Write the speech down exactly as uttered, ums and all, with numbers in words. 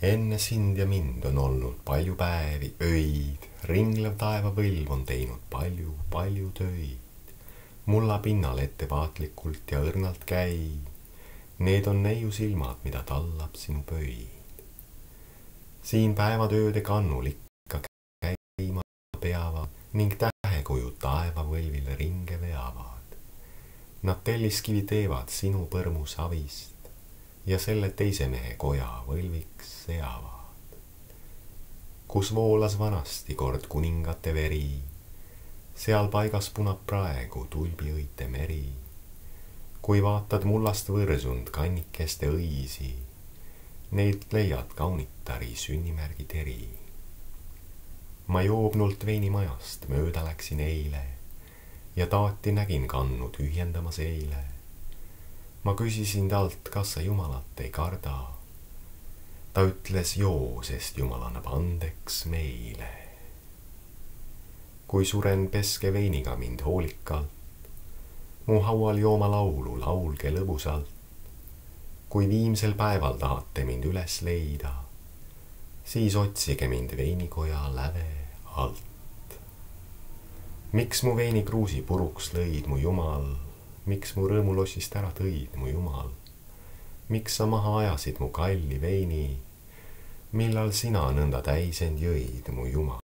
Enne sind ja mind on olnud palju päevi, öid, ringlev taevapõlv on teinud palju, palju töid. Mulla pinnal ettevaatlikult ja õrnalt käi, need on neiu silmad, mida tallab sinu pöid. Siin päevatööde kannul ikka käima peavad ning tähekujud taevapõlvile ringe veavad. Nad telliskivi teevad sinu põrmu savist ja selle teise mehe koja võlviks seavad. Kus voolas vanasti kord kuningate veri, seal paigas punab praegu tulbiõite meri. Kui vaatad mullast võrsund kannikeste õisi, neid leiad kaunitari sünnimärgi teri. Ma joobnult veinimajast mööda läksin eile ja taati nägin kannu tühjendamas eile. Ma küsisin talt, kas sa Jumalat ei karda. Ta ütles joo, sest Jumal annab andeks meile. Kui suren, peske veiniga mind hoolikalt, mu haual jooma laulu, laulge lõbusalt. Kui viimsel päeval tahate mind üles leida, siis otsige mind veinikoja läve alt. Miks mu veinikruusi puruks lõid, mu Jumal? Miks mu rõõmulossist ära tõid, mu Jumal? Miks sa maha ajasid mu kalli veini, millal sina nõnda täisend jõid, mu Jumal?